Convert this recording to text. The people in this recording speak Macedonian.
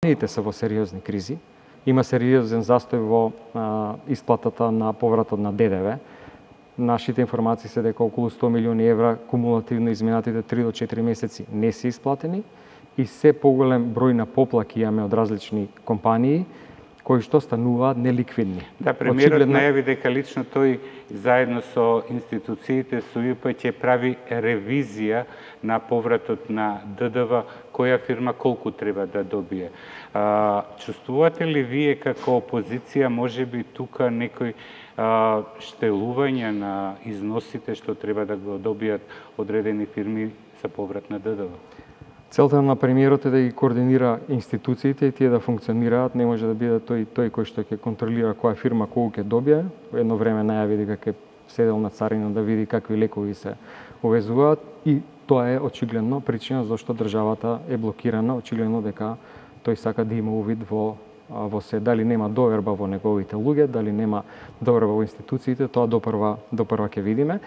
Компаниите се во сериозни кризи, има сериозен застој во исплатата на повратот на ДДВ. Нашите информации се дека околу 100 милиони евра кумулативно изминатите 3 до 4 месеци не се исплатени и се поголем број на поплаки имаме од различни компании кои што стануваат неликвидни. Да, премиерот најави дека лично тој заедно со институциите со УИП ќе прави ревизија на повратот на ДДВ, која фирма колку треба да добие. Чувствувате ли вие како опозиција можеби тука некој штелување на износите што треба да го добијат одредени фирми за поврат на ДДВ? Целта на премиерот е да ги координира институциите и тие да функционираат, не може да биде тој кој што ќе контролира која фирма колку ќе добие. Во едно време најави дека ќе седел на царина да види какви лекови се увезуваат и тоа е очигледно причина зашто државата е блокирана, очигледно дека тој сака да има увид во се, дали нема доверба во неговите луѓе, дали нема доверба во институциите, тоа допрва ќе видиме.